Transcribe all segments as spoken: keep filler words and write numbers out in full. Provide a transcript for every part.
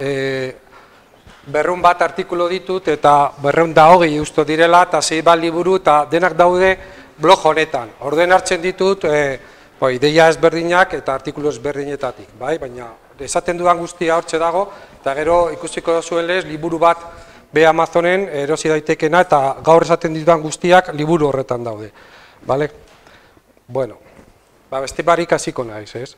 e, berreun bat artikulu ditut eta berreun da hogei usto direla eta zei bat liburu eta denak daude blog honetan. Orduen hartzen ditut e, bai, ideia ezberdinak eta artikulu ezberdinetatik, bai? Baina esaten dudan guztia hortxe dago eta gero ikusiko zuen lez liburu bat be Amazonen erosi daitekena eta gaur esaten ditudan guztiak liburu horretan daude. Bale? Bueno, ba, beste barik hasiko naiz, ez?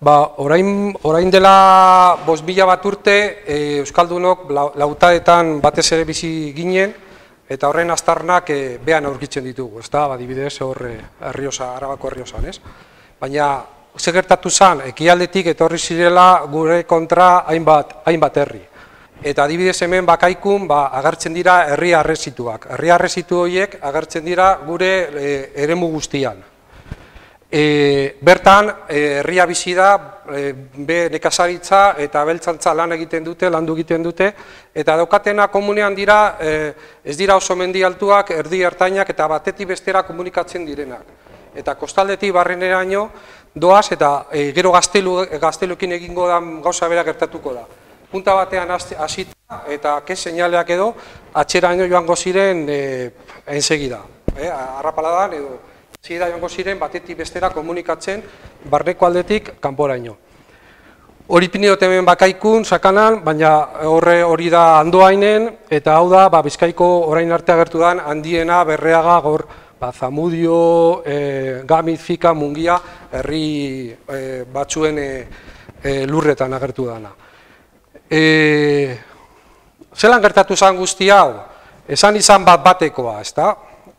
Ba, orain, orain dela bost mila bat urte e, Euskaldunok lautaetan batez ere bizi ginen eta horren aztarnak e, behan aurkitzen ditugu, ez da? Ba, adibidez hor Errioxa, Arabako Errioxan, ez? Baina, ze gertatu zen, ekialdetik etorri zirela gure kontra hainbat, hainbat herri. Eta adibidez hemen bakaikun ba, agertzen dira herri harresituak. Herri harresitu horiek agertzen dira gure e, eremu guztian. E, bertan, e, herria bizi da, e, be nekazaritza eta beltzantza lan egiten dute, landu egiten dute, eta daukatena komunean dira, e, ez dira oso mendi altuak, erdi ertainak eta batetik bestera komunikatzen direnak. Eta kostaldetik barreneraino doaz eta e, gero gaztelu, gaztelukin egingo da gauza bera gertatuko da. Punta batean hasita eta ke seinaleak edo atxeraino joango ziren e, ensegida. E, arrapaladan edo zira joango ziren batetik bestera komunikatzen barneko aldetik kanporaino. Hori pinidot hemen bakaikun, sakanan, baina horre hori da Andoainen eta hau da ba, Bizkaiko orain arte agertu dan handiena Berreaga gaur ba, Zamudio, e, Gamiz, Fika, Mungia herri e, batzuen e, e, lurretan agertu dana. E, zelan gertatu zen guzti hau? Esan izan bat batekoa, ezta?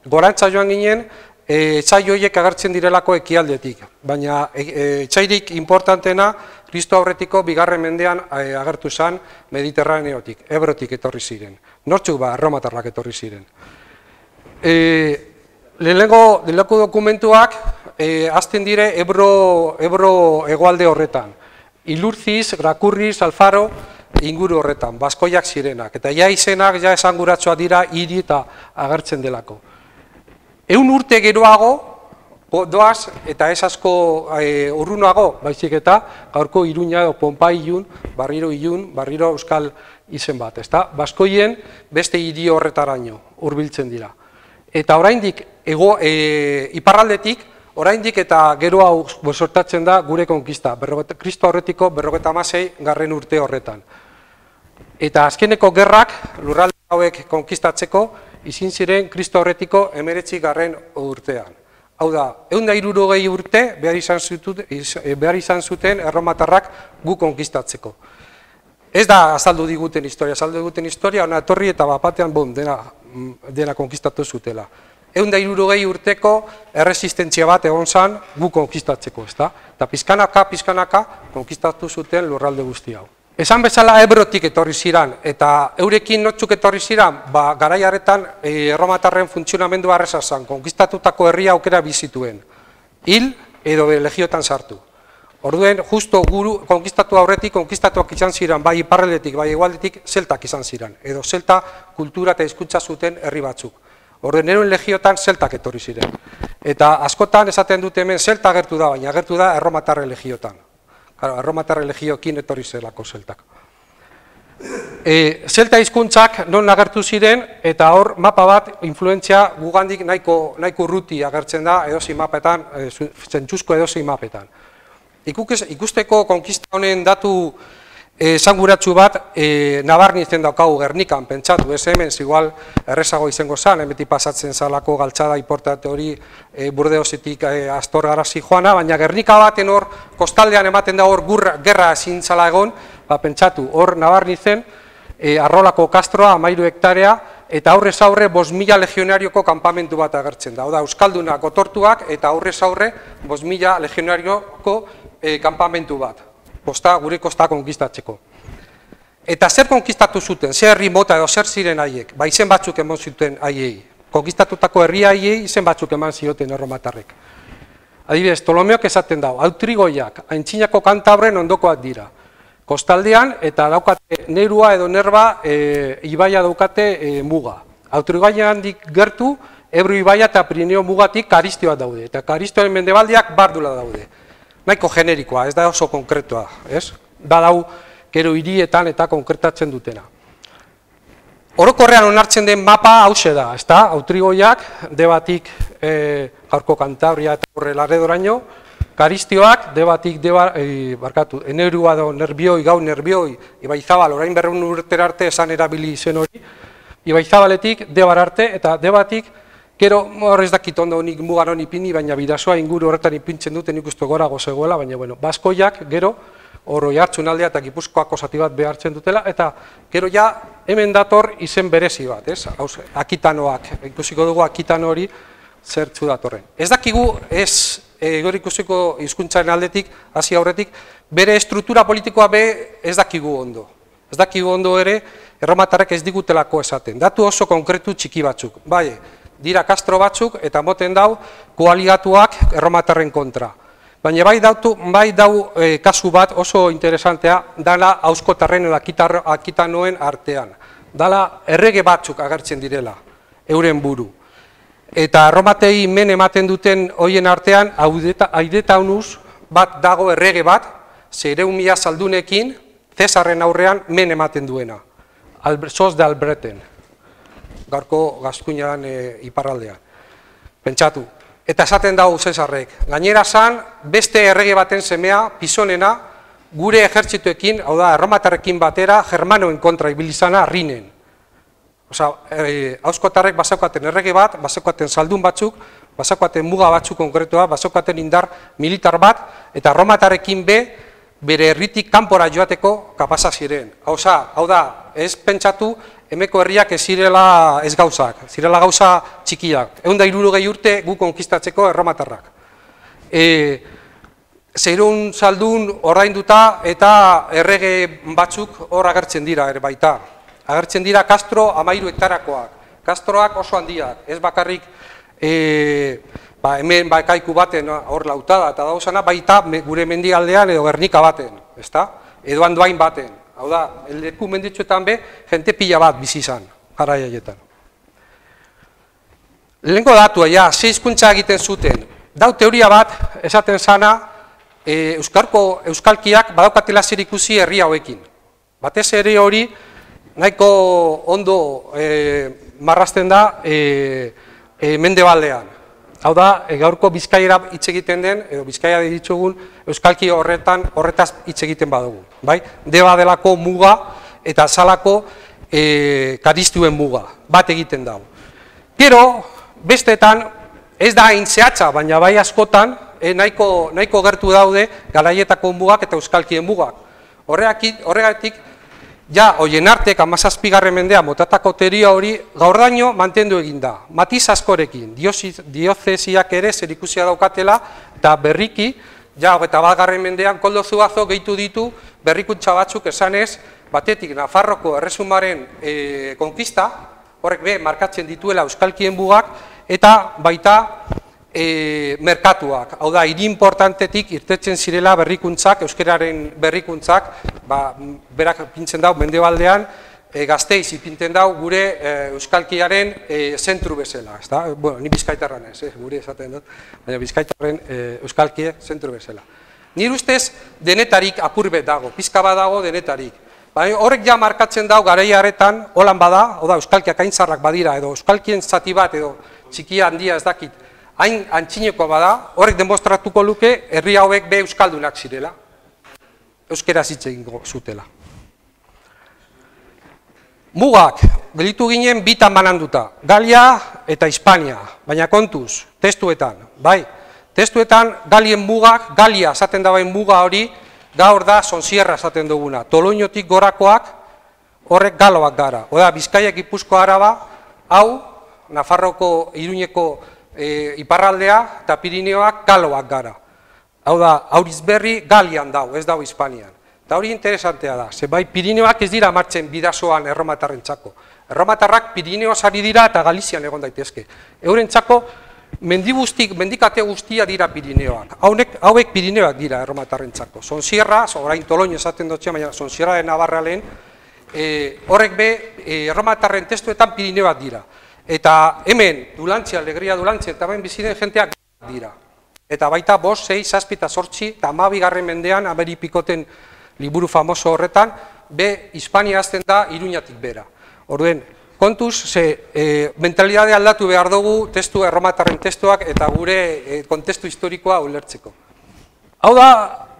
Gorantza joan ginen, e, etxai horiek agertzen direlako ekialdetik, baina e, e, etxairik importantena Kristo aurretiko bigarren mendean e, agertu zen Mediterraneotik, Ebrotik etorri ziren. Nortzuk ba, erromatarrak etorri ziren. E, lehenengo, lehenengo dokumentuak e, azten dire Ebro, Ebro hegoalde horretan. Ilurziz, Grakurriz, Alfaro, inguru horretan, baskoiak zirenak. Eta ja izenak, ja esanguratsua dira, hiri eta agertzen delako. Ehun urte geroago, doaz, eta ez asko e, urrunago, baizik eta, gaurko Iruña edo Ponpai ilun, barriro ilun, barriro euskal izen bat, ezta? Baskoien beste hiri horretaraino, hurbiltzen dira. Eta oraindik, ego, e, iparraldetik, oraindik eta gero hau sortatzen da gure konkista, Kristo aurretiko berrogeta hamasei garren urte horretan. Eta azkeneko gerrak, lurralde hauek konkistatzeko, izin ziren Kristo aurretiko hemeretzi garren urtean. Hau da, ehun eta hirurogei urte behar izan zuten, behar izan zuten erromatarrak gu konkistatzeko. Ez da azaldu diguten historia, azaldu diguten historia, ona etorri eta bapatean bom, dena, dena konkistatu zutela. Ehun eta hirurogei urteko erresistentzia bat egon zen gu konkistatzeko, ezta? Eta pizkanaka, pizkanaka konkistatu zuten lurralde guzti hau. Esan bezala Ebrotik etorri ziran, eta eurekin notzuk etorri ziran, ba, garai harretan e, erromatarren funtzionamendu arreza zen, konkistatutako herria aukera bizituen. Hil edo legiotan sartu. Orduen, justo guru konkistatu aurretik, konkistatuak izan ziran, bai iparraldetik, bai hegoaldetik, zeltak izan ziran. Edo zelta kultura eta hizkuntza zuten herri batzuk. Orduen, eroen legiotan zeltak etorri ziren. Eta askotan esaten dute hemen zelta agertu da, baina agertu da erromatarren legiotan. Claro, erromatarren legioekin etorri zelako zeltak. E, zelta hizkuntzak non agertu ziren, eta hor mapa bat, influentzia gugandik nahiko, nahiko urruti agertzen da edozi mapetan, e, zentzuzko edozi mapetan. Ikukez, ikusteko konkista honen datu esanguratsu bat, e, nabarnitzen daukagu Gernikan, pentsatu, ez hemen, igual errezago izango zen, hemetik pasatzen zalako galtzada importante hori e, Burdeosetik e, Astor garazi joana, baina Gernika baten hor, kostaldean ematen da hor gurra, gerra ezin zala egon, ba, pentsatu, hor nabarnitzen, e, Arrolako kastroa, amairu hektarea, eta aurrez aurre bost mila legionarioko kanpamentu bat agertzen da. Oda, Euskaldunak otortuak eta aurrez aurre bost mila legionarioko e, kanpamentu bat. Kosta, gure kosta konkistatzeko. Eta zer konkistatu zuten, zer herri mota edo zer ziren haiek, ba izen batzuk eman zuten haiei. Konkistatutako herri haiei izen batzuk eman zioten erromatarrek. Adibidez, Ptolomeok esaten dago, Autrigoiak, Aintzinako Kantabren ondokoak dira. Kostaldean eta daukate Nerua edo Nerba e, ibaia daukate e, muga. Autrigoian gertu, Ebro ibaia eta Pirineo mugatik Karistioak daude. Eta Karistioen mendebaldiak Bardula daude. Nahiko generikoa, ez da oso konkretua, ez? Badau, gero hirietan eta konkretatzen dutena. Orokorrean onartzen den mapa hause da, ezta? Autrigoiak, debatik e, gaurko Kantabria eta horre Laredoraino, Karistioak, debatik, deba, e, barkatu, enerua do nerbioi, gau nerbioi, Ibaizabal, orain berreun urtera arte esan erabili zen hori, Ibaizabaletik, debar arte, eta debatik, gero, horrez dakit ondo nik mugan honi ipini, baina bidazoa inguru horretan ipintzen duten ikustu gorago zegoela, baina, bueno, Baskoiak, gero, Oroi Hartzunaldea eta Gipuzkoako zati bat behartzen dutela, eta gero ja hemen dator izen berezi bat, ez? Hauze, Akitanoak, ikusiko dugu Akitano hori zertzu datorren. Ez dakigu, ez gero ikusiko hizkuntzaren aldetik, hasi aurretik, bere estruktura politikoa be ez dakigu ondo. Ez dakigu ondo ere, erromatarrek ez digutelako esaten. Datu oso konkretu txiki batzuk. Bai, dira Castro batzuk eta moten dau koaligatuak erromatarren kontra. Baina bai dautu, bai dau e, kasu bat oso interesantea, dala auskotarren edo Akitanoen artean. Dala errege batzuk agertzen direla, euren buru. Eta erromatei men ematen duten hoien artean, Aidetaunus bat dago errege bat, zeireun mila saldunekin, Cesarren aurrean men ematen duena. Sos de Albreten, gaurko Gaskuñan e, iparraldean. Pentsatu. Eta esaten dago Cesarrek, gainera zan, beste errege baten semea, Pisonena, gure ejertzituekin, hau da, erromatarrekin batera, germanoen kontra ibilizana Rinen. Osa, e, auskotarrek basaukaten errege bat, basaukaten saldun batzuk, basaukaten muga batzuk konkretua, basaukaten indar militar bat, eta erromatarrekin be, bere herritik kanpora joateko kapasa ziren. Hauza, hau da, ez pentsatu, hemeko herriak ez zirela ez gauzak, zirela gauza txikiak. Ehun da hirurogei urte gu konkistatzeko erromatarrak. E, Zeirun saldun ordainduta eta errege batzuk hor agertzen dira ere baita. Agertzen dira Castro hamairu hektarakoak. Castroak oso handiak, ez bakarrik e, ba, hemen bakaiku baten hor lautada eta dauzana, baita gure mendialdean edo Gernika baten, ezta? Edo Andoain baten. Hau da, leku menditxuetan be, jente pila bat bizi izan, garai haietan. Lehenko datua, ja, ze hizkuntza egiten zuten. Dau teoria bat, esaten zana, e, Euskarko euskalkiak badaukatela zer ikusi herri hauekin. Batez ere hori, nahiko ondo e, marrazten da e, e, mendebaldean. Hau da, e, gaurko Bizkaiera hitz egiten den, edo Bizkaia ditzugun, euskalki horretan horretaz hitz egiten badugu. Bai? Deba delako muga eta salako e, karistuen muga, bat egiten dago. Gero, bestetan, ez da hain zehatza, baina bai askotan, e, nahiko, nahiko gertu daude garaietako mugak eta euskalkien mugak. Horregatik, ja, hoien artek, hamazazpigarren mendea motatako teoria hori gaurdaino mantendu egin da. Matiz askorekin, diozesiak ere zerikusia daukatela, eta berriki, ja, eta batgarren mendean, Koldo Zuazo gehitu ditu berrikuntza batzuk esanez, batetik Nafarroko erresumaren e, konkista, horrek be, markatzen dituela euskalkien mugak, eta baita e, merkatuak. Hau da, hiri importantetik irtetzen zirela berrikuntzak, euskararen berrikuntzak, ba, berak pintzen dau mendebaldean, e, Gasteiz ipinten dau gure e, euskalkiaren e, zentru bezala. Ez da? Bueno, ni bizkaitarran ez, eh? Gure esaten dut, baina bizkaitarren e, euskalkie zentru bezala. Nire ustez denetarik apurbet dago, pizka bat dago denetarik. Ba, horrek ja markatzen dau garaiaretan, holan bada, hau da, euskalkiak aintzarrak badira, edo euskalkien zati bat, edo txikia handia ez dakit, hain antxinekoa bada, horrek demostratuko luke herri hauek be euskaldunak zirela, euskera hitz egingo zutela. Mugak, gelitu ginen bitan bananduta, Galia eta Hispania, baina kontuz, testuetan, bai, testuetan Galien mugak, Galia esaten dagoen muga hori, gaur da Sonsierra esaten duguna, Toloñotik gorakoak, horrek galoak gara, oda, Bizkaia, Gipuzkoa, Araba, hau, Nafarroko, Iruñeko e, iparraldea eta Pirineoak galoak gara. Hau da, Aurizberri Galian dau, ez dau Hispanian. Eta hori interesantea da, ze bai Pirineoak ez dira martzen bidazoan erromatarrentzako. Erromatarrak Pirineoaz ari dira eta Galizian egon daitezke. Eurentzako mendi guztik, mendikate guztia dira Pirineoak. Hauek, hauek Pirineoak dira erromatarrentzako. Sonsierra, orain Toloño esaten dutxea, baina Sonsierra de Navarra lehen, e, horrek be e, erromatarren testuetan Pirineoak dira. Eta hemen, Dulantzia, Alegria Dulantzia, eta hemen biziren jenteak dira. Eta baita bost, sei, zazpi eta zortzi, eta hamabigarren mendean, Ameripikoten liburu famoso horretan, B, Hispania hasten da Iruñatik bera. Orduen, kontuz, ze e, mentalidade aldatu behar dugu testu erromatarren testuak eta gure e, kontestu historikoa ulertzeko. Hau da,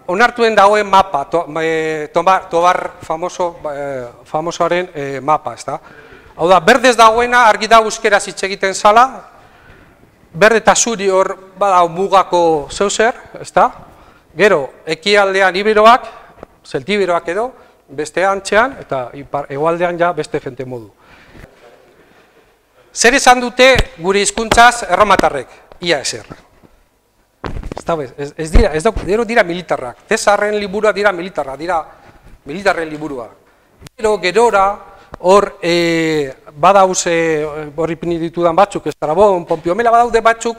onartuen dagoen mapa, to, e, tobar, tobar famoso, e, famosoaren e, mapa, ez da? Hau da, berdez dagoena argi da euskeraz hitz egiten zala, berde eta zuri hor badau mugako zeuzer, ez da? Gero, ekialdean iberoak, zeltiberoak edo, beste antxean, eta hegoaldean ja beste jente modu. Zer esan dute gure hizkuntzaz erromatarrek? Ia ezer. Ez, ez dira, ez dira, dira militarrak. Cesarren liburua dira militarra, dira militarren liburua. Gero, gerora, hor e, badauz hor ipini ditudan batzuk, Estrabon, Pompio Mela badaude batzuk,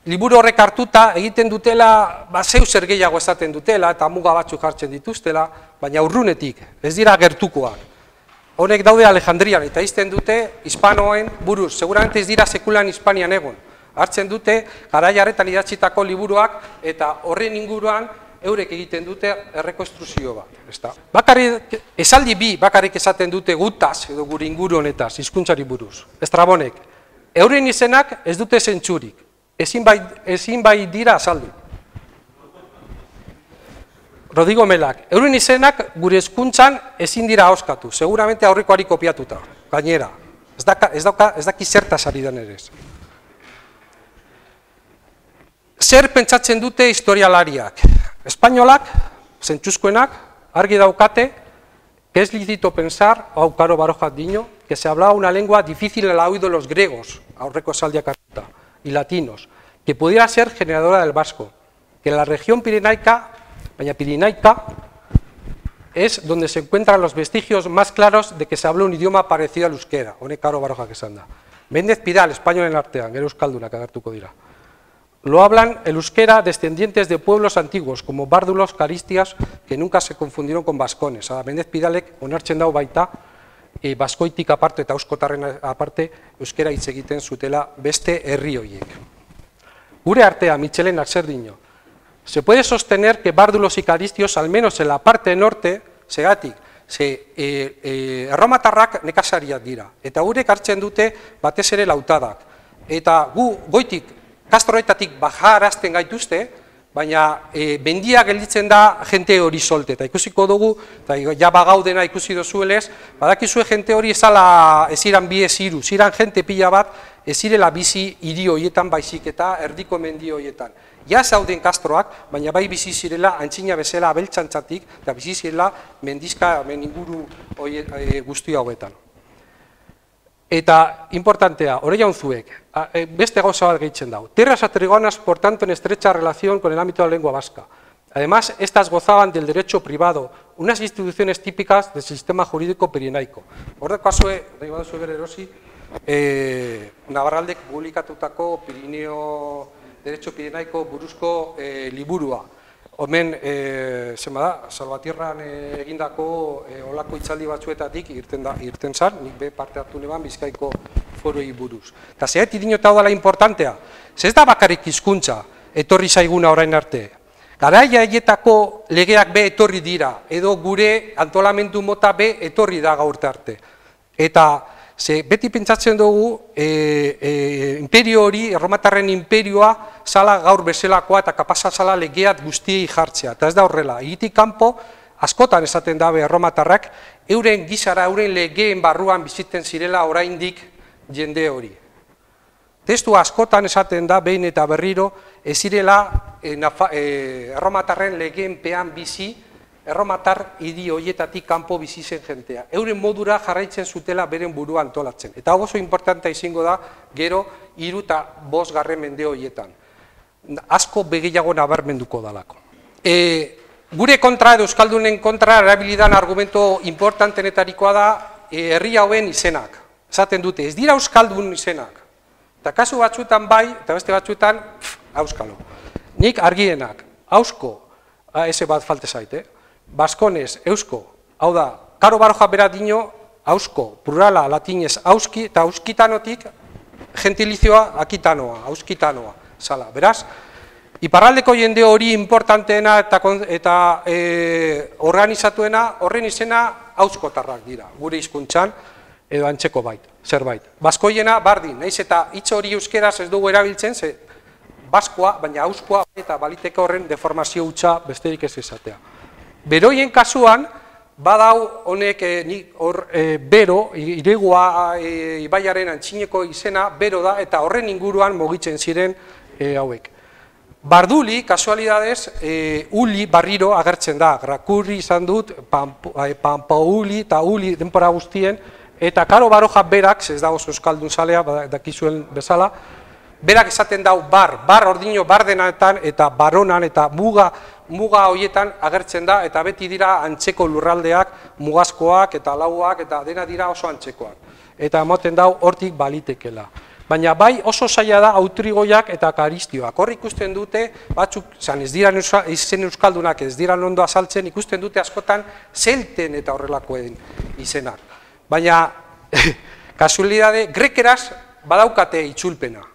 liburu horrek hartuta egiten dutela, ba, zeu zer gehiago esaten dutela, eta muga batzuk hartzen dituztela, baina urrunetik, ez dira gertukoak. Honek daude Alejandrian, eta izten dute hispanoen buruz, seguramente ez dira sekulan Hispanian egon. Hartzen dute, garaiaretan idatzitako liburuak, eta horren inguruan eurek egiten dute errekonstruzio bat. Bakarrik, esaldi bi bakarrik esaten dute gutaz, edo gure inguru honetaz, hizkuntzari buruz. Estrabonek, euren izenak ez dute zentzurik, ezin bai, ezin bai dira azaldu. Rodrigo Melak, euren izenak gure hizkuntzan ezin dira ahoskatu, seguramente aurrekoari kopiatuta, gainera. Ez daka, ez dauka, ez daki zertaz ari den ere. Zer pentsatzen dute historialariak? Espainolak, zentzuzkoenak, argi daukate, que es lícito pensar, hau Karo Baroja diño, que se hablaba una lengua difícil al oído de los griegos, aurreko esaldiak hartuta, y latinos, que pudiera ser generadora del vasco, que la región pirenaica, baina pirenaica, es donde se encuentran los vestigios más claros de que se habla un idioma parecido al euskera, honek Karo Baroja esan da. Méndez Pidal, espainolen artean, gero euskaldunak agertuko dira. Lo hablan el euskera descendientes de pueblos antiguos, como bárdulos, caristias, que nunca se confundieron con vascones. Méndez Pidalek onartzen dau baita, e, baskoitik aparte eta euskotarren aparte, euskera hitz egiten zutela beste herri horiek. Gure artea, Michelenak zer dio. Se puede sostener que bárdulos y caristios, al menos en la parte norte, segatik, ze e, e, erromatarrak nekazariak dira, eta gurek hartzen dute batez ere lautadak. Eta gu goitik, Kastroetatik bajarazten gaituzte, baina e, bendia gelditzen da jente hori solte, eta ikusiko dugu, eta ja bagaudena ikusi dozuelez, badakizue jente hori ezala eziran bi eziru, ziran jente pila bat, ezirela bizi hiri horietan baizik eta erdiko mendi horietan. Ja zauden kastroak, baina bai bizi zirela antzina bezala abeltzantzatik, eta bizi zirela mendizka meninguru e, guzti hauetan. Eta, importantea, hori jaunzuek, beste gauza bat gehitzen dau. Tierras atrigonas, por tanto, en estrecha relación con el ámbito de la lengua vasca. Además, estas gozaban del derecho privado, unas instituciones típicas del sistema jurídico pirenaico. Hor kasue, nahi baduzue bere erosi, eh, Navarraldek publikatutako Pirineo Derecho Pirenaico buruzko eh, liburua. Hemen, e, zema da, Salvatierran e, egindako e, olako itzaldi batzuetatik irten, da, irten zan, nik be parte hartu neban Bizkaiko foroi buruz. Eta zehet idinota dela importantea, ze ez da bakarrik hizkuntza etorri zaiguna orain arte. Garaia haietako legeak be etorri dira, edo gure antolamendu mota be etorri da gaurte arte. Eta ze beti pentsatzen dugu e, e, imperio hori, erromatarren imperioa, zala gaur bezalakoa eta kapasa zala legeat guztiei jartzea. Eta ez da horrela, egitik kanpo, askotan esaten dabe erromatarrak, euren gizara, euren legeen barruan biziten zirela oraindik jende hori. Testu askotan esaten da, behin eta berriro, ez zirela e, e, erromatarren legeen pean bizi, erromatar hiri horietatik kanpo bizi zen jentea. Euren modura jarraitzen zutela beren burua antolatzen. Eta oso importantea izango da, gero, hiru eta bost garren mende horietan. Asko begiago nabarmenduko dalako. E, gure kontra edo euskaldunen kontra erabilidan argumento importantenetarikoa da e, herri hauen izenak. Esaten dute, ez dira euskaldun izenak. Eta kasu batzuetan bai, eta beste batzuetan, auskalo. Nik argienak, ausko, eze bat falte zait, eh? Baskones, eusko, hau da, Karo Baroja bera dino, ausko, plurala, latinez, auski, eta auskitanotik, gentilizioa, akitanoa, auskitanoa, zala, beraz? Iparraldeko jende hori importanteena eta, eta e, organizatuena, horren izena auskotarrak dira, gure hizkuntzan edo antzeko bait, zerbait. Baskoiena bardin, naiz eta hitz hori euskeraz ez dugu erabiltzen, ze baskoa, baina auskoa eta baliteke horren deformazio hutsa besterik ez izatea. Beroien kasuan, badau honek hor bero, iregua ibaiaren antzineko izena, bero da, eta horren inguruan mugitzen ziren hauek. Barduli, kasualidadez, uli barriro agertzen da, grakurri izan dut, panpauli eta uli denpora guztien, eta Karo Baroja berak, ez dago euskaldun zalea, dakizuen bezala, berak esaten dau bar, bar ordino bardenetan eta baronan eta muga muga horietan agertzen da, eta beti dira antzeko lurraldeak, mugazkoak eta lauak, eta dena dira oso antzekoak. Eta emoten dau hortik balitekela. Baina bai oso zaila da autrigoiak eta karistioak. Hor ikusten dute, batzuk, zan ez dira izen euskaldunak, ez dira ondo azaltzen, ikusten dute askotan zelten eta horrelakoen izenak. Baina, kasualidade, grekeraz badaukate itzulpena.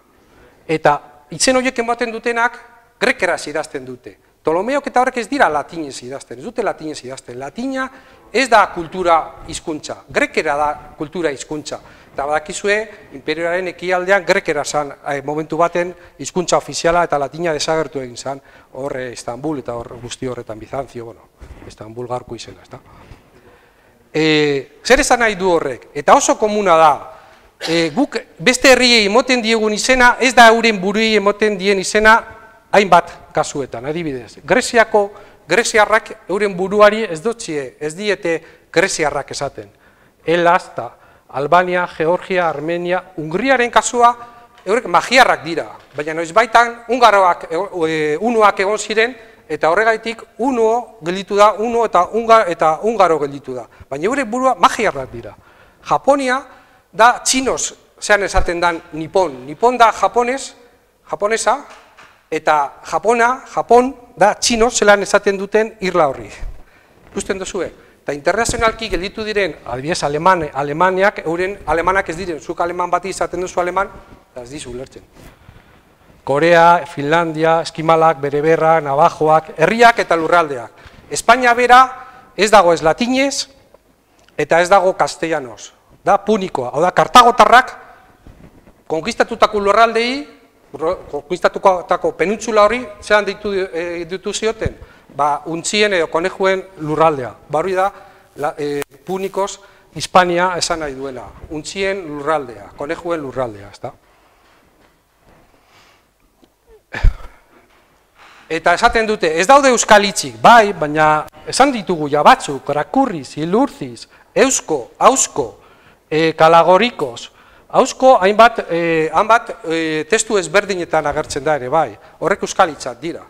Eta izen horiek ematen dutenak, grekeraz idazten dute. Ptolomeok eta horrek ez dira latinez idazten, ez dute latinez idazten. Latina ez da kultura hizkuntza, grekera da kultura hizkuntza. Eta badakizue, imperioaren ekialdean grekera zan momentu baten hizkuntza ofiziala eta latina desagertu egin zan, horre Istanbul eta hor guzti horretan Bizantzio, bueno, Istanbul garko izena, ez da. Zer esan nahi du horrek? Eta oso komuna da, guk beste herriei emoten diegun izena, ez da euren buruei emoten dien izena, hainbat kasuetan, adibidez. Greziako, greziarrak euren buruari ez dutzie, ez diete greziarrak esaten. Helaz, Albania, Georgia, Armenia, Hungriaren kasua, eurek magiarrak dira. Baina noiz baitan, ungaroak, unuak egon ziren, eta horregaitik uno gelditu da, uno eta ungaro gelditu da. Baina eurek burua magiarrak dira. Japonia da txinos, zean esaten dan nipon. Nipon da japones, japonesa, eta Japona, Japon, da txino zelan esaten duten irla horri. Ikusten duzue? Eta internazionalki gelditu diren, adibidez, Alemaniak, euren alemanak ez diren, zuk aleman bati izaten duzu aleman, eta ez dizu ulertzen. Korea, Finlandia, Eskimalak, Bereberra, Navajoak, herriak eta lurraldeak. Espainia bera ez dago ez latinez, eta ez dago castellanoz. Da punikoa, hau da, kartagotarrak, konkistatutako lurraldei, konkistatutako penuntzula hori, zelan ditu zioten? Ba, untzien edo konejuen lurraldea. Barri da, punikoz, Hispania esan nahi duela. Untzien lurraldea, konejuen lurraldea, ez da? Eta esaten dute, ez daude euskal hitzik, bai, baina esan ditugu ja batzuk, rakurriz, ilurziz, eusko, ausko, kalagorikoz, ausko hainbat testu ezberdinetan agertzen da ere, bai, horrek euskal hitzak dira.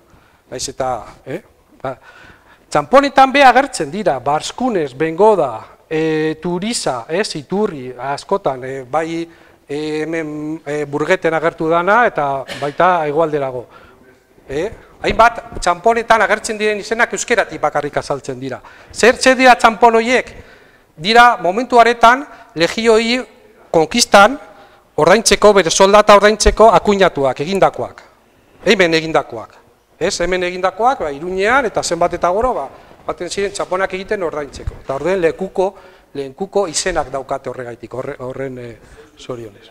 Naiz eta, eh? Txamponetan be agertzen dira, Barskunez, Bengoda, Turiza, Iturri, askotan, bai hemen Burgeten agertu dana eta baita hegoalderago. Hainbat txamponetan agertzen diren izenak euskeratik bakarrik azaltzen dira. Zer dira txampon horiek? Dira momentu haretan legioi konkistan ordaintzeko, bere soldata ordaintzeko akuinatuak, egindakoak. Hemen egindakoak. Ez, hemen egindakoak, Iruñean eta zenbat eta goro, baten ziren txaponak egiten ordaintzeko. Eta orden lekuko, lehenkuko izenak daukate horregaitik, horren zorionez.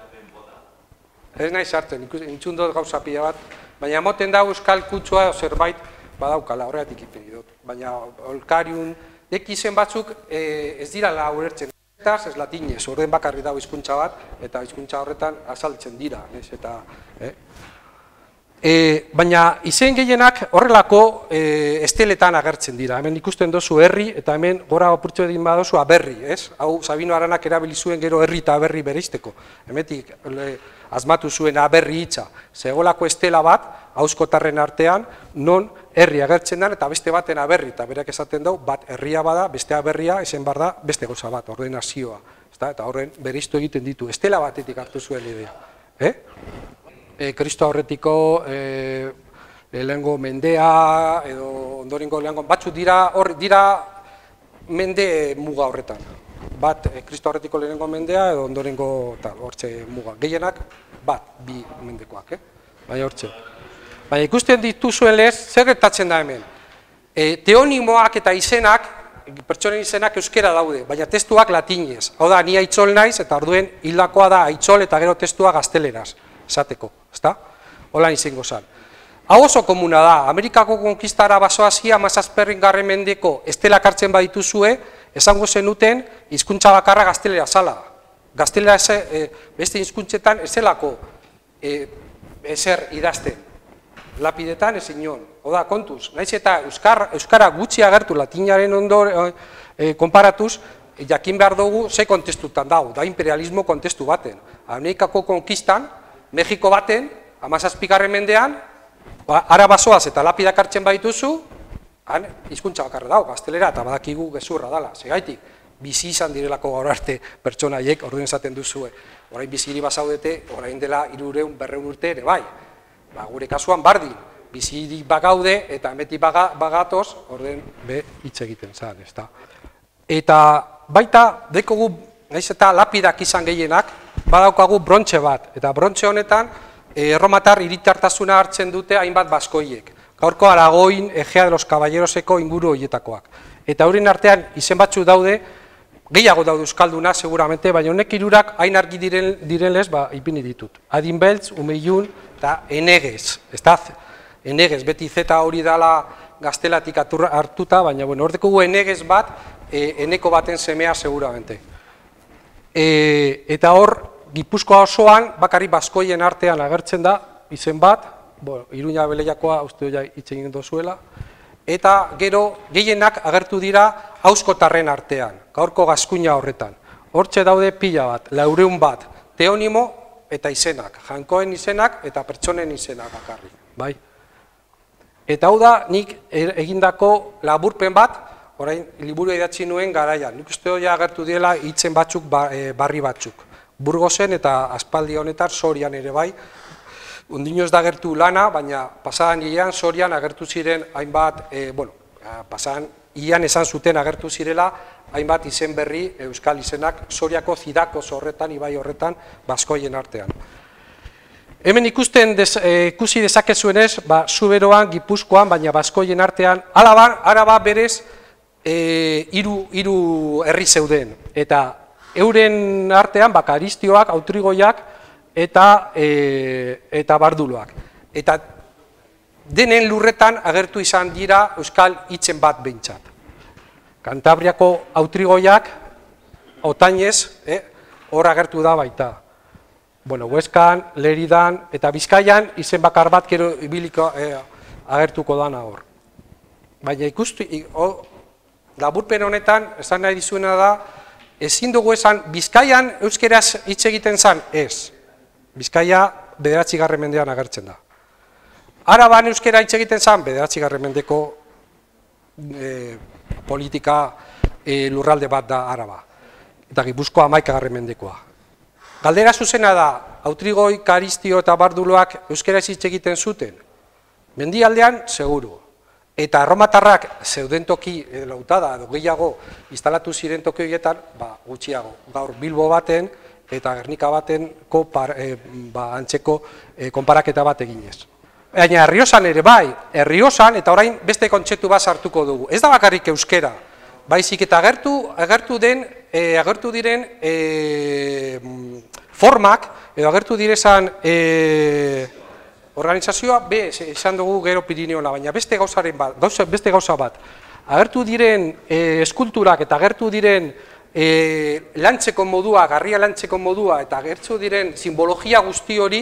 Ez nahi sartzen, intzun dut gauza pila bat, baina moten da euskal kutsua zerbait badaukala, horregatik ipini dut. Baina olkariun, dek izen batzuk ez dira la ulertzen, ez latinez, orden bakarri dago hizkuntza bat, eta hizkuntza horretan azaltzen dira, ez eta... Baina izen gehienak horrelako esteletan agertzen dira. Hemen ikusten dozu herri eta hemen gora opurtzu edin badozu aberri, ez? Hau Sabino Aranak erabili zuen gero herri eta aberri bereizteko. Hemetik asmatu zuen aberri hitza. Zegolako estela bat, auskotarren artean, non herri agertzen den eta beste baten aberri. Eta berak esaten dau, bat herria bada, beste aberria, ezen bar da, beste goza bat, ordenazioa. Eta horren bereiztu egiten ditu. Estela batetik hartu zuen idea. Kristo aurretiko lehengo mendea edo ondorengo lehengo batzuk dira hor dira mende muga horretan. Bat Kristo aurretiko lehengo mendea edo ondorengo hortze muga. Gehienak bat bi mendekoak, eh? Baina hortze. Baina ikusten dituzuen lez, zer gertatzen da hemen? Teonimoak eta izenak pertsonen izenak euskera daude, baina testuak latinez. Hau da, ni Aitzol naiz, eta orduen hildakoa da Aitzol eta gero testua gazteleraz, esateko, ezta? Hola izango zen. Hau oso komuna da, Amerikako konkistara basoazia hamazazpi garren mendeko estelak hartzen badituzue, esango zenuten hizkuntza bakarra gaztelera zala. Gaztelera e, beste hizkuntzetan ezelako e, ezer idazten. Lapidetan ezin nion. Oda, kontuz, naiz eta euskara, euskara gutxi agertu latinaren ondo e, konparatuz, jakin behar dugu ze kontestutan dago, da imperialismo kontestu baten. Amerikako konkistan, Mexiko baten, hamazazpigarren mendean, ara basoaz eta lapidak hartzen baituzu, han hizkuntza bakarra dago, gaztelera, eta badakigu gezurra dala, segaitik, bizi izan direlako gaur arte pertsonaiek, orduen esaten duzue, orain biziri basaudete, orain dela hiruehun berrehun urte ere bai, ba, gure kasuan bardin, biziri bagaude eta emeti baga, bagatoz, orduen be hitz egiten zan, ezta. Eta baita, dekogu, naiz eta lapidak izan gehienak, badaukagu brontxe bat, eta brontxe honetan, erromatar hiritartasuna hartzen dute hainbat baskoiek. Gaurko Aragoin, Egea de los Caballeroseko inguru horietakoak. Eta horien artean izen batzu daude, gehiago daude euskalduna seguramente, baina honek hirurak hain argi diren, direnlez, ba, ipini ditut. Adinbeltz, Umeilun eta Enegez. Ez Enegez, beti zeta hori dala gaztelatik hartuta, baina bueno, hor Enegez bat, e, eneko baten semea seguramente. E, eta hor, Gipuzkoa osoan, bakarrik baskoien artean agertzen da, izen bat, bueno, Iruña Beleiakoa uste ja hitz egin dozuela, eta gero gehienak agertu dira auskotarren artean, gaurko Gaskuña horretan. Hortxe daude pila bat, laurehun bat, teonimo eta izenak, jankoen izenak eta pertsonen izenak bakarrik, bai? Eta hau da, nik egindako laburpen bat, orain liburu idatzi nuen garaian, nik uste hori agertu diela hitzen batzuk, barri batzuk. Burgosen eta aspaldi honetan Sorian ere bai, ondino ez da agertu lana, baina pasadan hilean Sorian agertu ziren hainbat, e, bueno, pasadan hilean esan zuten agertu zirela, hainbat izen berri, euskal izenak, Soriako Zidako horretan, ibai horretan, baskoien artean. Hemen ikusten des, e, ikusi dezakezuenez, ba, Zuberoan, Gipuzkoan, baina baskoien artean, Araban, Araba berez, e, hiru, hiru herri zeuden, eta euren artean bakaristioak, autrigoiak eta, e, eta barduloak. Eta denen lurretan agertu izan dira euskal hitzen bat behintzat. Kantabriako autrigoiak, Otainez, eh, hor agertu da baita. Bueno, Hueskan, Leridan eta Bizkaian izen bakar bat gero ibiliko eh, agertuko dana hor. Baina ikustu, laburpen honetan, esan nahi dizuena da, ezin dugu esan, Bizkaian euskeraz hitz egiten zan, ez. Bizkaia bederatzigarren mendean agertzen da. Araban euskera hitz egiten zan, bederatzigarren mendeko e, politika e, lurralde bat da Araba. Eta Gipuzkoa hamaikagarren mendekoa. Galdera zuzena da, Autrigoi, Karistio eta Barduloak euskera hitz egiten zuten. Mendialdean, seguru. Eta erromatarrak zeuden toki lautada edo gehiago instalatu ziren toki horietan, ba, gutxiago. Gaur Bilbo baten eta Gernika batenko par, e, ba, antzeko e, konparaketa bat eginez. Baina Errioxan ere bai, Errioxan eta orain beste kontzeptu bat sartuko dugu. Ez da bakarrik euskera, baizik eta agertu, agertu, den, e, agertu diren e, formak, edo agertu direzan e, organizazioa, be, esan dugu gero Pirineola, baina beste gauzaren bat, gauza, beste gauza bat. Agertu diren e, eskulturak eta agertu diren e, lantzeko modua, garria lantzeko modua, eta agertu diren simbologia guzti hori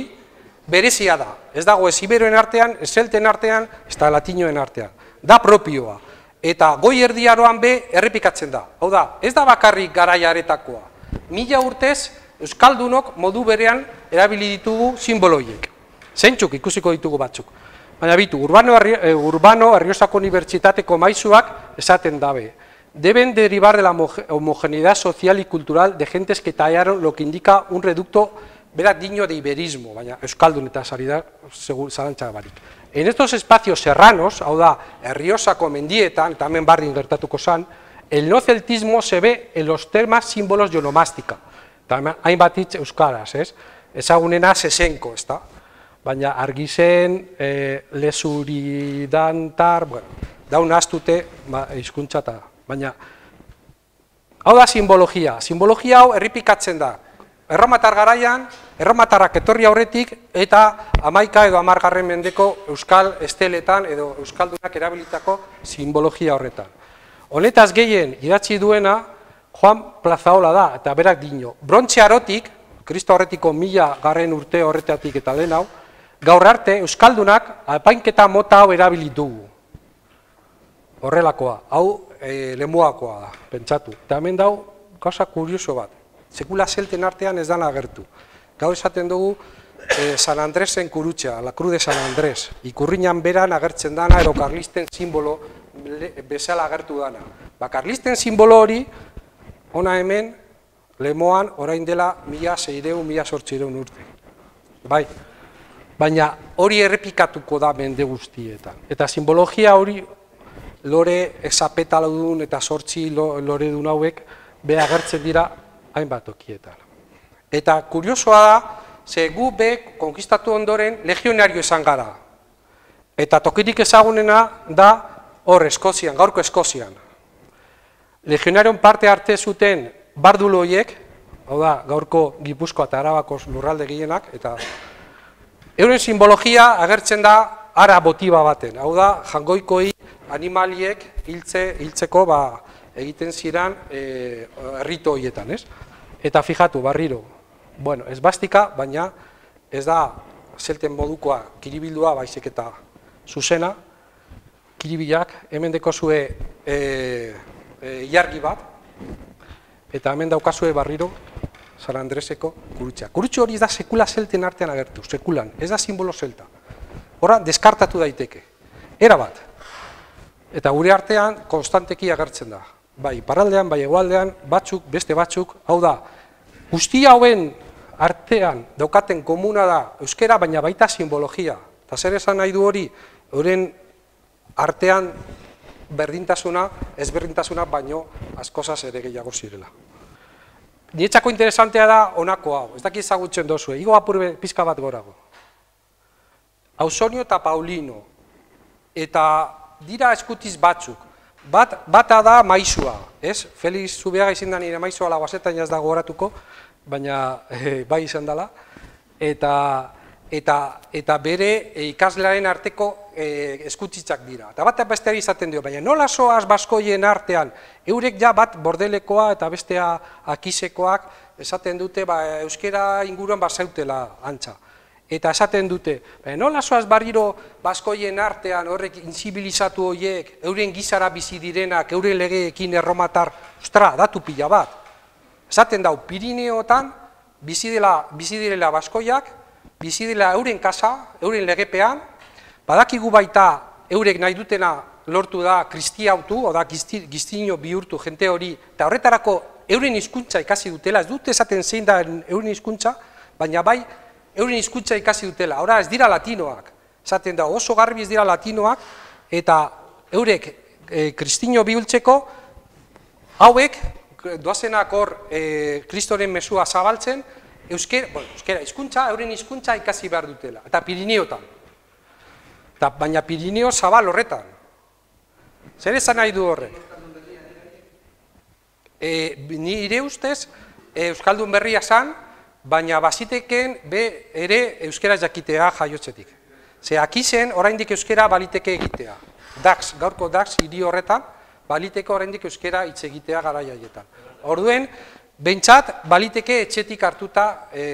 berezia da. Ez dago ez iberoen artean, ez zelten artean, ez da latinoen artean. Da propioa. Eta goi erdiaroan be errepikatzen da. Hau da, ez da bakarrik garaiaretakoa. Mila urtez, euskaldunok modu berean erabili ditugu simboloiek. Zeintzuk ikusiko ditugu batzuk. Baina bitu, Urbano, Urbano Errioxako Unibertsitateko maizuak esaten dabe. Deben derivar de la homogeneidad social y cultural de gentes que tallaron lo que indica un reducto berak digno de iberismo, baina euskaldun eta sari da, zalantza barik. En estos espacios serranos, hau da, Errioxako mendietan, eta hemen barrin gertatuko zan, el no celtismo se ve en los temas símbolos de onomástica. Hainbat hitz euskaraz, ez? Ezagunena sesenko, ez da? Baina argizen, e, lesuridantar, bueno, daun astute hizkuntza eta, baina hau da simbologia. Simbologia hau errepikatzen da. Erromatar garaian, erromatarrak etorri aurretik eta hamaika edo hamargarren mendeko euskal esteletan edo euskaldunak erabilitako simbologia horretan. Honetaz gehien idatzi duena Juan Plazaola da, eta berak dino. Brontze arotik, Kristo horretiko mila garren urte horretatik eta lehen hau, gaur arte euskaldunak apainketa mota hau erabilitugu. Horrelakoa, hau e, lemuakoa da, pentsatu. Eta hemen dau, gauza kurioso bat. Sekula zelten artean ez dana agertu. Gau esaten dugu eh, San Andresen kurutxea, la Cruz de San Andrés. Ikurriñan beran agertzen dana, ero karlisten simbolo bezala agertu dana. Ba, karlisten simbolo hori, ona hemen, lemoan, orain dela, mila seireun, mila sortzireun urte. Bai, baina hori errepikatuko da mende guztietan. Eta simbologia hori, lore esapetaludun eta sortzi lore dun hauek, be agertzen dira, hainbat tokietan. Eta kuriosoa da, ze gu be konkistatu ondoren legionario izan gara. Eta tokirik ezagunena da hor Eskozian, gaurko Eskozian. Legionarion parte arte zuten bardulo horiek, hau da gaurko Gipuzkoa eta Arabako lurralde gehienak, eta euren simbologia agertzen da ara motiba baten. Hau da jangoikoi animaliek hiltze, hiltzeko ba, egiten ziran e, errito horietan, ez? Eta fijatu, barriro, bueno, ez bastika, baina ez da zelten modukoa kiribildua, baizik eta zuzena, kiribilak, hemen dekozue e, e, ilargi bat, eta hemen daukazue barriro, San Andreseko kurutxa. Kurutxo hori ez da sekula zelten artean agertu, sekulan, ez da simbolo zelta. Horra, deskartatu daiteke, era bat. Eta gure artean, konstanteki agertzen da. Bai, paraldean, bai hegoaldean, batzuk, beste batzuk, hau da, guzti hauen artean daukaten komuna da euskera, baina baita simbologia. Eta zer esan nahi du hori, euren artean berdintasuna, ezberdintasuna, baino askozaz ere gehiago zirela. Nietzako interesantea da honako hau, ez daki ezagutzen dozue, igo apurbe pizka bat gorago. Ausonio eta Paulino, eta dira eskutiz batzuk, Bat, bata da maizua, ez? Felix Zubiaga izin da nire maizua laguazetan jaz da gogoratuko, baina e, bai izan dela. Eta, eta, eta bere e, ikaslearen arteko e, eskutitzak dira. Eta bat besteari izaten dio, baina nola soaz baskoien artean, eurek ja bat bordelekoa eta bestea akisekoak esaten dute ba, euskera inguruan bazautela antza. Eta esaten dute, nola soaz barriro baskoien artean horrek inzibilizatu horiek, euren gizara bizi direnak, euren legeekin erromatar, ostra, datu pila bat. Esaten dau, Pirineotan bizi dela, bizi direla baskoiak, bizi dela euren kasa, euren legepean, badakigu baita eurek nahi dutena lortu da kristiautu, oda giztino bihurtu jente hori, eta horretarako euren hizkuntza ikasi dutela, ez dute esaten zein da euren hizkuntza, baina bai, euren hizkuntza ikasi dutela, ora ez dira latinoak, esaten da oso garbi ez dira latinoak, eta eurek e, kristino bihultzeko, hauek doazenak hor e, kristoren mesua zabaltzen, euskera, bueno, euskera hizkuntza, euren hizkuntza ikasi behar dutela, eta Pirineotan. Eta, baina Pirineo zabal horretan. Zer esan nahi du horrek? E, nire ustez, e, Euskaldun berria zan, baina baziteken be ere euskera jakitea jaiotzetik. Ze akizen oraindik euskera baliteke egitea. Dax, gaurko Dax hiri horretan, baliteke oraindik euskera hitz egitea garai haietan. Orduen, behintzat baliteke etxetik hartuta e,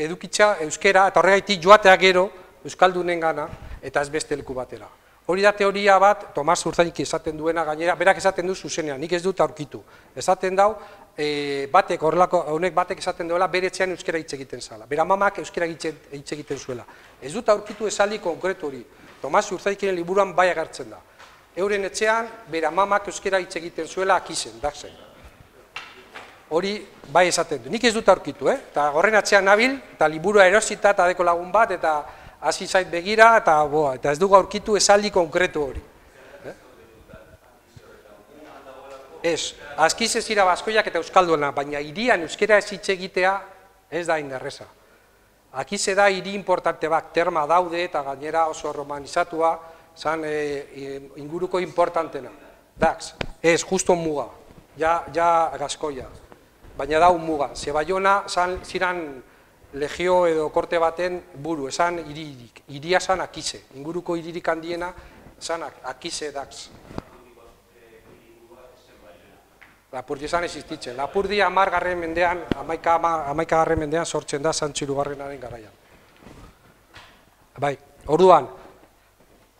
edukitza euskera, eta horregaitik joatea gero euskaldunen gana, eta ez beste leku batera. Hori da teoria bat, Tomas Urzainik esaten duena gainera, berak esaten du zuzenean, nik ez dut aurkitu. Esaten dau, e, batek, horrelako, honek batek esaten duela, bere etxean euskera hitz egiten zala. Bera mamak euskera hitz egiten zuela. Ez dut aurkitu esaldi konkretu hori. Tomas Urzaikiren liburuan bai agertzen da. Euren etxean, bera mamak euskera hitz egiten zuela akizen, daxen. Hori bai esaten du. Nik ez dut aurkitu, eh? Eta horren atzean nabil, eta liburua erosita eta deko lagun bat, eta hasi zait begira, eta, boa, eta ez dugu aurkitu esaldi konkretu hori. Eh? Ez, azkiz ez ira baskoiak eta euskalduena, baina hirian euskera ez hitz egitea ez da inderreza. Akize da hiri importante bat, terma daude eta gainera oso romanizatua, zan e, inguruko importantena. Dax, Ez, justo muga, ja, ja Gaskoia. Baina da un muga. Ze Baiona ziran legio edo korte baten buru, esan hiririk. Hiria esan Akize. Inguruko hiririk handiena esan Akize dax. Lapurdi esan existitzen. Lapurdi amargarren mendean, amaikagarren mendean sortzen da Santxo hirugarrenaren garaian. Bai, orduan,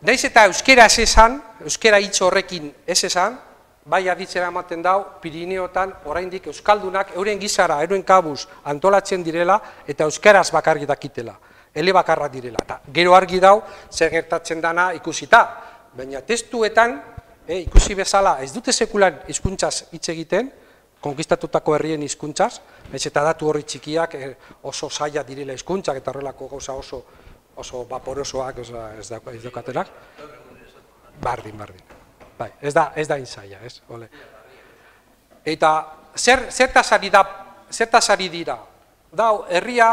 naiz eta euskera ez esan, euskera hitz horrekin ez esan, bai aditzera ematen dau, Pirineotan oraindik euskaldunak euren gizara, euren kabuz antolatzen direla eta euskaraz bakarrik dakitela, ele bakarra direla. Eta gero argi dau, zer gertatzen dana ikusita, baina testuetan, eh, ikusi bezala ez dute sekulan hizkuntzaz hitz egiten, konkistatutako herrien hizkuntzaz, naiz eta datu horri txikiak eh, oso zaila direla hizkuntzak eta horrelako gauza oso oso vaporosoak ez daukatenak. Bardin, bardin. Bai, ez da, ez da inzaia, ez? Ole. Eta zer, zertaz ari da, zertaz ari dira? Dau, herria,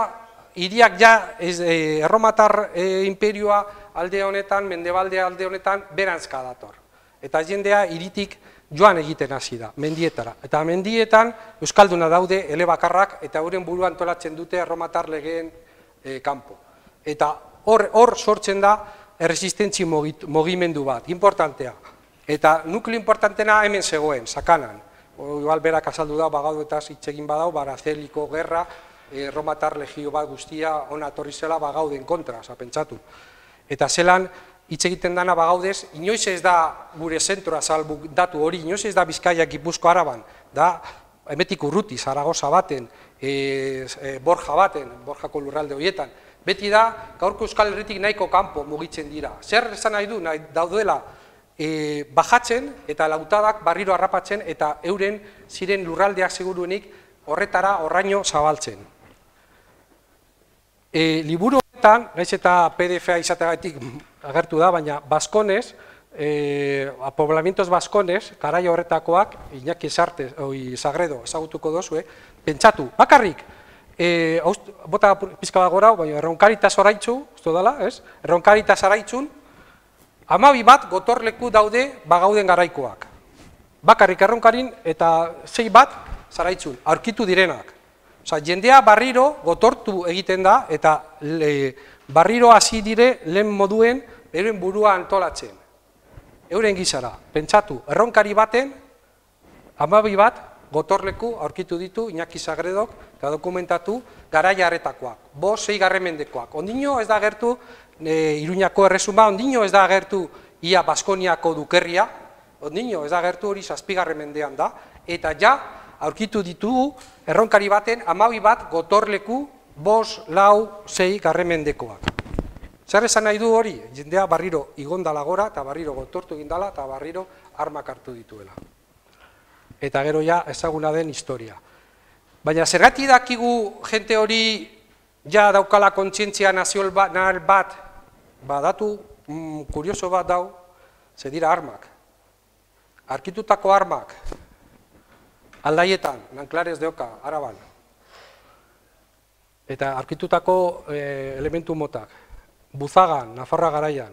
hiriak ja, ez, eh, erromatar eh, imperioa alde honetan, mendebalde alde honetan, berantzka dator. Eta jendea hiritik joan egiten hasi da, mendietara. Eta mendietan euskalduna daude elebakarrak eta euren burua antolatzen dute erromatar legeen eh, kanpo. Eta hor, hor sortzen da erresistentzi mugimendu bat, importantea. Eta nukleo importantena hemen zegoen, Sakanan. Igual berak azaldu da, bagadu eta hitz egin badau, Barazeliko gerra, erromatar legio bat guztia ona etorri zela bagauden kontra, pentsatu. Eta zelan, hitz egiten dana bagaudez, inoiz ez da gure zentroa salbu datu hori, inoiz ez da Bizkaia Gipuzko Araban, da hemetik urruti, Zaragoza baten, e, e, Borja baten, Borjako lurralde horietan, beti da, gaurko Euskal Herritik nahiko kanpo mugitzen dira. Zer esan nahi du, nahi daudela, e, bajatzen eta lautadak barriro harrapatzen eta euren ziren lurraldeak seguruenik horretara horraino zabaltzen. E, liburu horretan, naiz eta P D F-a izateagatik agertu da, baina Baskonez, e, poblamientos Baskonez, garai horretakoak, Iñaki Sartez, oi, Sagredo, ezagutuko dozue, pentsatu, bakarrik, e, aust, bota pizka bat gora, baina erronkaritas oraitzu, uste dala, ez? Erronkaritas araitzun, hamabi bat gotorleku daude bagauden garaikoak. Bakarrik erronkarin eta sei bat zaraitzun, aurkitu direnak. Osa, jendea barriro gotortu egiten da eta le, barriro hasi dire lehen moduen euren burua antolatzen. Euren gizara, pentsatu, erronkari baten, hamabi bat gotorleku aurkitu ditu Iñaki Sagredok eta dokumentatu garaia harretakoak, bost sei garren mendekoak. Ondino ez da agertu e, Iruñako erresuma, ondino ez da agertu ia Baskoniako dukerria, ondino ez da agertu hori zazpigarren mendean da, eta ja aurkitu ditugu erronkari baten hamabi bat gotorleku bost, lau, sei garren mendekoak. Zer esan nahi du hori? Jendea barriro igondala gora eta barriro gotortu egindala eta barriro armak hartu dituela. Eta gero ja ezaguna den historia. Baina zergatik dakigu jente hori ja daukala kontzientzia nazional bat, badatu mm, kurioso bat dau, ze dira armak. Arkitutako armak, Aldaietan, Nanclares de Oca, Araban. Eta arkitutako e, elementu motak, Buzagan, Nafarroa garaian,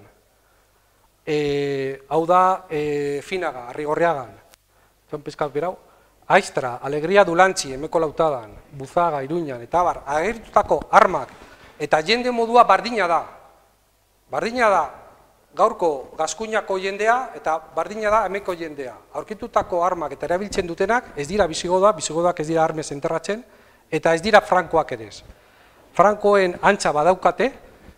e, hau da e, Finaga, Arrigorriagan, zon pizkat berau, Aiztra, Alegria Dulantzi, Emeko Lautadan, Buzaga, Iruñan, eta bar, agertutako armak, eta jende modua bardina da. Bardina da gaurko Gaskuñako jendea, eta bardina da Emeko jendea. Aurkitutako armak eta erabiltzen dutenak, ez dira bisigoda, bisigodak ez dira armez enterratzen, eta ez dira frankoak ere. Frankoen antza badaukate,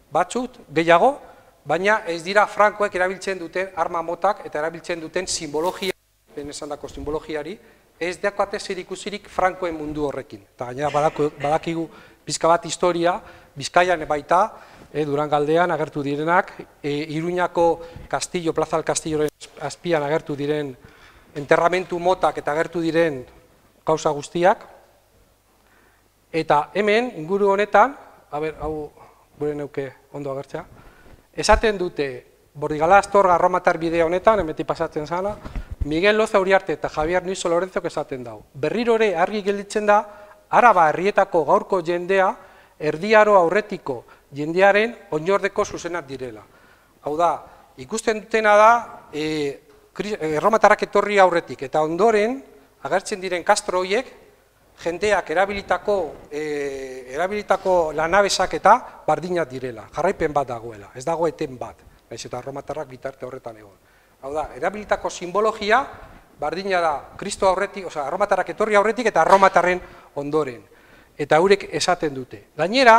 batzut, gehiago, baina ez dira frankoek erabiltzen duten arma motak eta erabiltzen duten simbologia, ben esan dako simbologiari, ez daukate zerikusirik frankoen mundu horrekin. Eta gainera badakigu pizka bat historia, Bizkaian baita, e, Durangaldean agertu direnak, e, Iruñako Castillo, Plaza del Castilloren azpian agertu diren enterramentu motak eta agertu diren gauza guztiak, eta hemen, inguru honetan, a ber, hau gure neuke ondo agertzea, esaten dute, Bordigala Astorga Erromatar bidea honetan, hemetik pasatzen zala, Miguel Loza Uriarte eta Javier Nuizo Lorenzok esaten dau. Berriro ere argi gelditzen da, Araba herrietako gaurko jendea, erdiaro aurretiko jendearen oinordeko zuzenak direla. Hau da, ikusten dutena da, e, erromatarrak etorri aurretik, eta ondoren, agertzen diren kastro horiek, jendeak erabilitako, e, erabilitako lanabesak eta bardinak direla, jarraipen bat dagoela, ez dago eten bat, naiz eta erromatarrak bitarte horretan egon. Hau da, erabilitako simbologia, bardina da, Kristo aurretik, oza, erromatarrak etorri aurretik eta erromatarren ondoren. Eta haurek esaten dute. Gainera,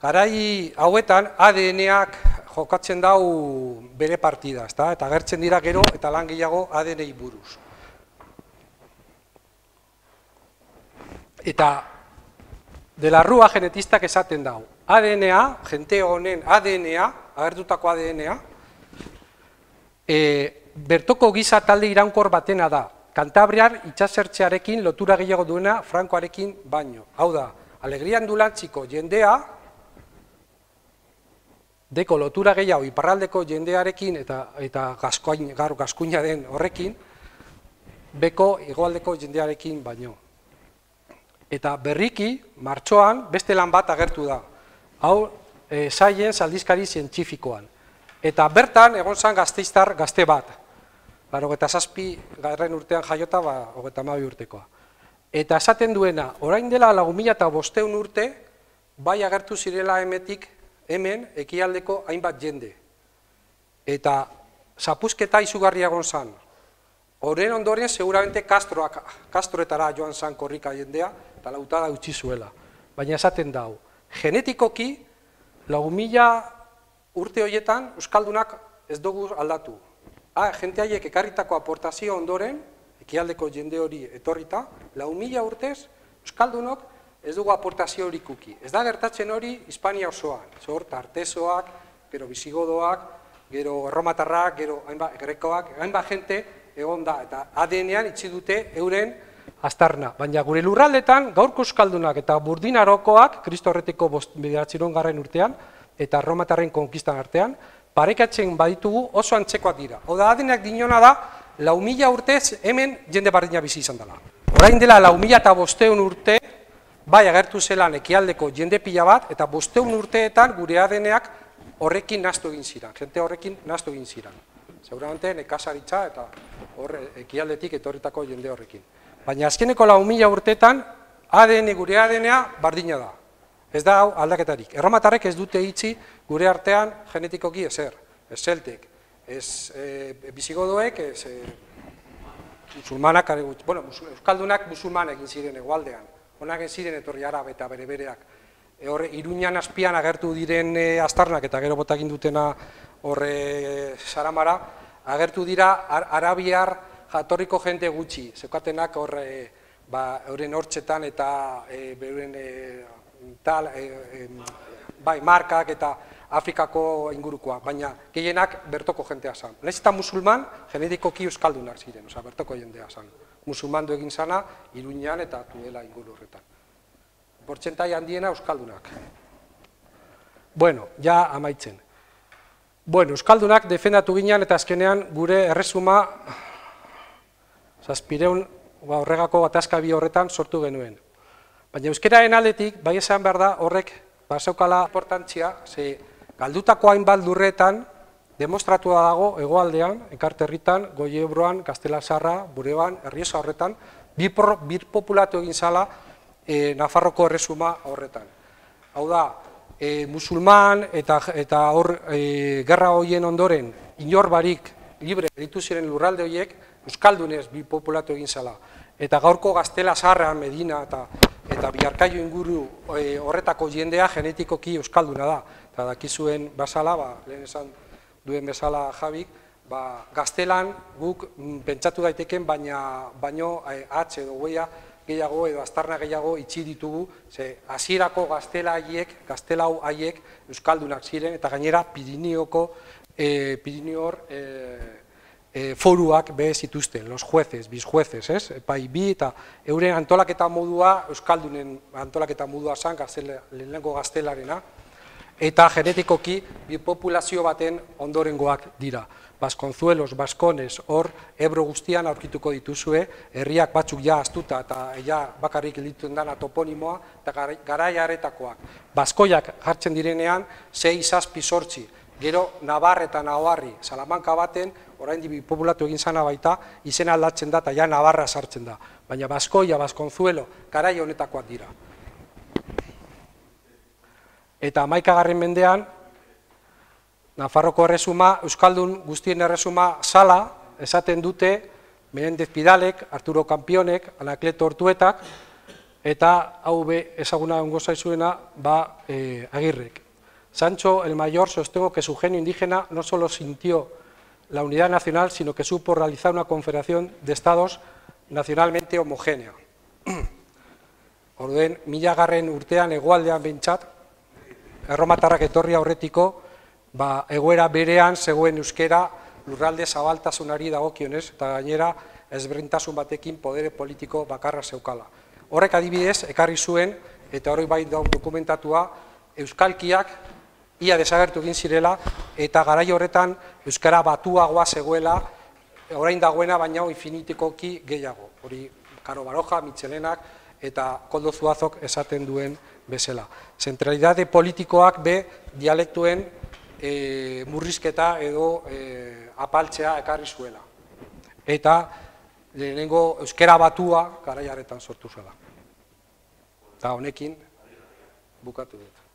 garai hauetan A D N-ak jokatzen dau bere partida, ezta? Eta agertzen dira gero eta lan gehiago A D N-i buruz. Eta de la Rúa genetistak esaten dau. A D N-a, jente honen A D N-a, agertutako A D N-a, e, bertoko giza talde iraunkor batena da. Kantabriar itxasertzearekin lotura gehiago duena Frankoarekin baino. Hau da, Alegria Andulantziko jendea, deko lotura gehiago iparraldeko jendearekin eta eta gaskoin, gaur gaskuina den horrekin, beko hegoaldeko jendearekin baino. Eta berriki, martxoan, beste lan bat agertu da. Hau, e, Science aldizkari zientifikoan. Eta bertan, egon zan gazteiztar gazte bat. Hogeita zazpi garren urtean jaiota, ba, hogeita hamabi urtekoa. Eta esaten duena, orain dela lau mila bostehun urte, bai agertu zirela hemetik, hemen, ekialdeko hainbat jende. Eta zapuzketa izugarria egon zan. Horren ondoren, seguramente Castroak, Castroetara joan zan korrika jendea, eta lautada utzi zuela. Baina esaten dau, genetikoki, lau mila urte horietan, euskaldunak ez dugu aldatu. Ah, jente haiek ekarritako aportazio ondoren, ekialdeko jende hori etorrita, lau mila urtez, euskaldunok ez dugu aportazio hori kuki. Ez da gertatzen hori Hispania osoan, zor, tartesoak, gero bisigodoak, gero erromatarrak, gero hainbat grekoak, hainbat jente egon da, eta A D N-an itxi dute euren aztarna. Baina gure lurraldetan, gaurko euskaldunak eta burdinarokoak, Kristo horretiko bederatziehun garren urtean, eta erromatarren konkistan artean, parekatzen baditugu oso antzekoak dira. Oda, A D N-ak dinona da, lau mila urtez hemen jende bardina bizi izan dela. Orain dela lau mila eta bostehun urte, bai agertu zelan ekialdeko jende pila bat, eta bostehun urteetan gure A D N-ak horrekin nahastu egin ziren, jente horrekin nahastu egin ziren. Seguramente nekazaritza eta horre ekialdetik etorritako jende horrekin. Baina azkeneko lau mila urteetan, A D N gure A D N-a bardina da. Ez da hau aldaketarik. Erromatarrek ez dute itxi gure artean genetikoki ezer. Ez zeltek, ez e, bisigodoek, ez e, musulmanak, bueno, euskaldunak musulman egin ziren egualdean. Honak egin ziren etorri arabe eta bere bereak. E, horre, Iruñan azpian agertu diren e, aztarnak eta gero botakin dutena horre saramara, agertu dira ar, arabiar jatorriko jente gutxi, zeukatenak horre, ba, euren hortxetan eta e, beuren e, tal, e, e, bai, markak eta Afrikako ingurukoa, baina gehienak bertoko jentea zan. Nahiz eta musulman, genetikoki euskaldunak ziren, oza, bertoko jendea zan. Musulmandu egin zana, Iruñan eta Tudela inguru horretan. Portzentai handiena euskaldunak. Bueno, ja amaitzen. Bueno, euskaldunak defendatu ginen eta azkenean gure erresuma zazpireun horregako gatazkabi horretan sortu genuen. Baina euskeraren aldetik, bai esan behar da, horrek bazeukala importantzia, ze galdutako hainbat lurretan, demostratua dago hegoaldean, Enkarterritan, Goiebroan, Gaztelasarra, Bureban, Errioxa horretan, bir populatu egin zala e, Nafarroko erresuma horretan. Hau da, e, musulman eta, eta hor e, gerra horien ondoren, inor barik libre ditu ziren lurralde horiek, euskaldunez bi populatu egin zala. Eta gaurko Gaztelasarra, Medina eta eta Biarkaio inguru e, horretako jendea genetikoki euskalduna da. Eta dakizuen basala, ba, lehen esan duen bezala Jabik, ba, gaztelan guk m, pentsatu daiteken, baina baino e, hatz edo goia gehiago edo aztarna gehiago itxi ditugu, ze hasierako gaztela haiek, gaztelau haiek euskaldunak ziren, eta gainera Pirineoko, e, Pirineor e, E, foruak be zituzten, los jueces, bizjueces, ez? Epai bi eta euren antolaketa modua, euskaldunen antolaketa modua zan, gaztela, lehenengo gaztelarena, eta genetikoki bi populazio baten ondorengoak dira. Baskonzuelos, Baskones, hor Ebro guztian aurkituko dituzue, herriak batzuk ja astuta eta ja bakarrik lituen dana toponimoa, eta garai haretakoak. Baskoiak jartzen direnean, sei, zazpi, sortzi, Gero, Navar eta Navarri, Salamanca baten, orain dibi populatu egin zana baita, izena aldatzen da eta ja Navarra sartzen da. Baina Baskoia, Baskonzuelo, garai honetakoak dira. Eta hamaikagarren mendean, Nafarroko erresuma, Euskaldun guztien erresuma zala, esaten dute, Menendez Pidalek, Arturo Kampionek, Anakleto Ortuetak, eta hau be ezaguna ongo zaizuena, ba, eh, Agirrek. Sancho el Mayor sostengo que su genio indígena no solo sintió la unidad nacional, sino que supo realizar una confederación de estados nacionalmente homogénea. Orduen, milagarren urtean hegoaldean behintzat, erromatarrak etorri aurretiko, ba, egoera berean zegoen euskera lurralde zabaltasunari dagokionez, eta gainera ezberdintasun batekin podere politiko bakarra zeukala. Horrek adibidez, ekarri zuen, eta hori bai daun dokumentatua, euskalkiak ia desagertu egin zirela, eta garai horretan euskara batuagoa zegoela, orain dagoena baina infinitikoki gehiago. Hori Karo Baroja, Michelenak eta Koldo Zuazok esaten duen bezala. Zentralidade politikoak be dialektuen e, murrizketa edo e, apaltzea ekarri zuela. Eta lehenengo euskara batua garai harretan sortu zela. Eta honekin bukatu dut.